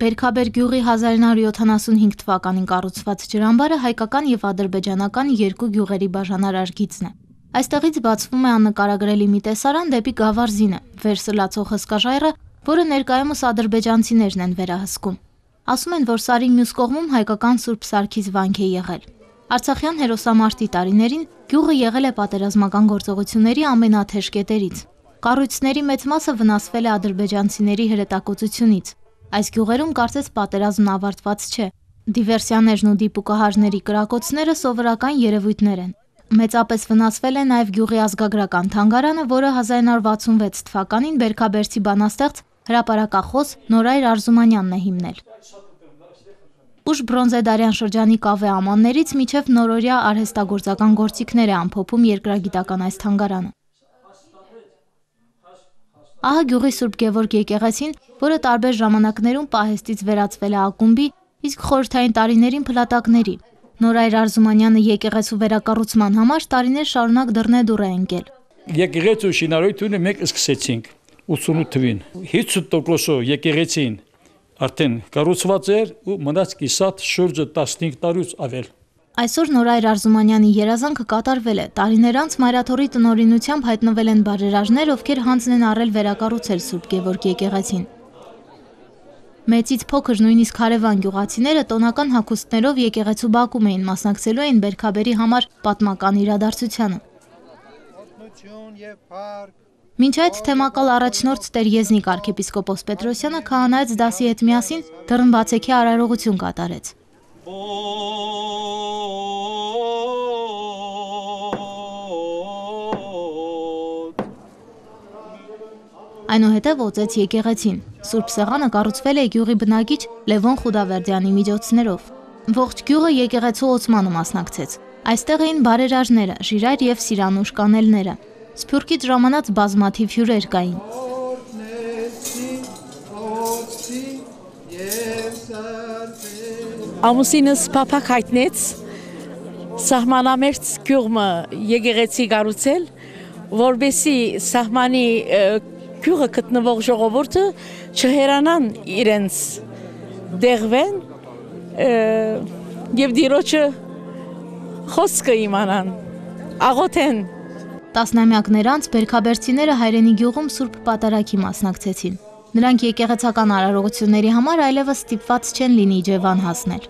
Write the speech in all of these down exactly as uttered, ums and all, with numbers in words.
Բերքաբեր գյուղի հազար նոր յոթանասունհինգ թվականին կառուցված ջրամբարը հայկական եւ ադրբեջանական երկու գյուղերի բաժանարար գիծն է։ Այստեղից բացվում է աննկարագրելի մի տեսարան դեպի Գավառզինը, վեր սլացող հսկաժայռը, որը ներկայումս ադրբեջանցիներն են վերահսկում։ Ասում են, որ Սարի մյուս կողմում հայկական Սուրբ Սարգիս վանք է եղել։ Արցախյան հերոսամարտի տարիներին գյուղը եղել է պատերազմական գործողությունների ամենաթեժ կետերից։ Կառույցների մեծ մասը վնասվել է ադրբեջանցիների հրետակոծությունից։ Այս գյուղերում կարծես պատերազմն ավարտված չէ։ Դիվերսիաներն ու դիպուկահարների կրակոցները սովորական երևույթներ են։ Մեծապես վնասվել է նաև գյուղի ազգագրական թանգարանը, որը հազար նոր վաթսունվեց թվականին Բերքաբերցի բանաստեղծ հրապարակախոս Նորայր Արզումանյանն է հիմնել։ Ուշ բրոնզեդարյան շրջանի կավե ամաններից մինչև նորօրյա արհեստագործական գործիքներ է ամփոփում երկրագիտական այս թանգարանը։ Ահա գյուղի Սուրբ Գևորգ եկեղեցին, որը տարբեր ժամանակներում պահեստից վերածվել է ակումբի, իսկ խորհրդային տարիներին փլատակների։ Նորայր Արզումանյանը եկեղեցու վերակառուցման համար տարիներ շարունակ դռնեդուռ է ընկել։ Եկեղեցու շինարարությունը մենք սկսեցինք ութսունութ թվին։ հինգ տոկոսով եկեղեցին արդեն կառուցված էր ու մնաց կիսատ շուրջը տասնհինգ տարուց ավել։ Այսօր Նորայր Արզումանյանի երազանքը կատարվել է։ Տարիներ անց Մայրաթորի տնօրինությամբ հայտնվել են բարերարներ, ովքեր հանձն են առել վերակառուցել Սուրբ Գևորգ եկեղեցին։ Մեծից փոքր, նույնիսկ հարևան գյուղացիները տոնական հագուստներով եկեղեցու բակում էին, մասնակցելու էին Բերքաբերի համար պատմական իրադարձությանը։ Մինչ այդ թեմակալ առաջնորդ Տեր Եզնիկ arczepiskopos Պետրոսյանը քահանայից դասի հետ միասին դռնբացեքի արարողություն կատարեց։ Այնուհետև օծեց եկեղեցին։ Սուրբ Սեղանը կառուցվել է գյուղի բնակիչ Լևոն Խուդավերդյանի միջոցներով։ Ողջ գյուղը եկեղեցու օծմանը մասնակցեց։ Այստեղ էին բարերարները, Ժիրայր եւ Սիրանուշ կանելները։ Սփյուռքից ժամանած բազմաթիվ հյուրեր կային։ Ամուսինս փափակ հայտնեց սահմանամերձ գյուղը եկեղեցի կառուցել, որբեսի սահմանի գյուղը գտնվող ժողովուրդը չհերանան իրենց դեղվեն եւ դիրոջը խոսքը իմանան, աղոթեն։ Տասնամյակներ անց բերքաբերցիները հայրենի գյուղում Սուրբ Պատարագի մասնակցեցին։ Նրանք եկեղեցական արարողությունների համար այլևս ստիպված չեն լինի Իջևան հասնել։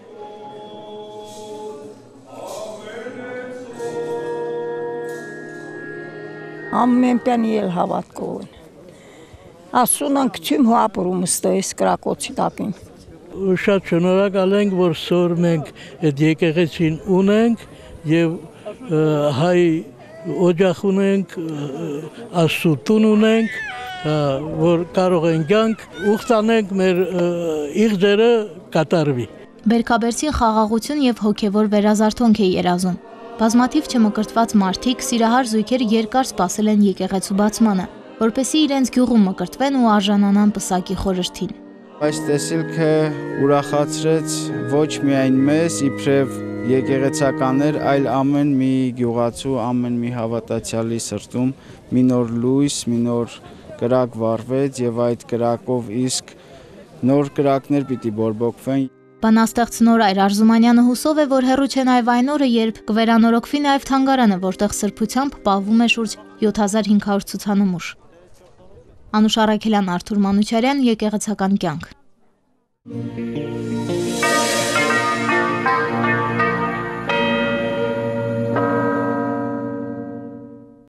Ամենպյան ել հավատքով են։ Ասուն ենք չիմ հապրում ստոյս կրակոցի տակին։ Շատ շնորհակալ ենք, որ սոր մենք այդ եկեղեցին ունենք եւ հայ օջախ ունենք, ասուտուն ունենք, որ կարող ենք գանք ուխտանենք մեր իղձերը կատարվի։ Բերքաբերցին խաղաղություն եւ հոգեվոր վերազարթոնք է երազում։ Բազմաթիվ չմկրտված մարդիկ, սիրահար զույգեր երկար սպասել են եկեղեցու բացմանը, որպեսզի իրենց գյուղում մկրտվեն ու արժանանան պսակի խորհրդին։ Այս տեսիլքը ուրախացրեց ոչ միայն մեզ, իբրև եկեղեցականներ, այլ ամեն մի գյուղացու, ամեն մի հավատացյալի սրտում մի նոր լույս, մի նոր կրակ վառվեց եւ այդ կրակով իսկ նոր կրակներ պիտի բորբոքվեն։ Բանաստեղծ Նորայր Արզումանյանը հուսով է, որ հեռու չէ նաև այն օրը, երբ կվերանորոգվի նաև թանգարանը, որտեղ սրբությամբ պահվում է շուրջ յոթ հազար հինգ հարյուր ցուցանմուշ։ Անուշ Առաքելյան, Արթուր Մանուչարյան, Եկեղեցական կյանք։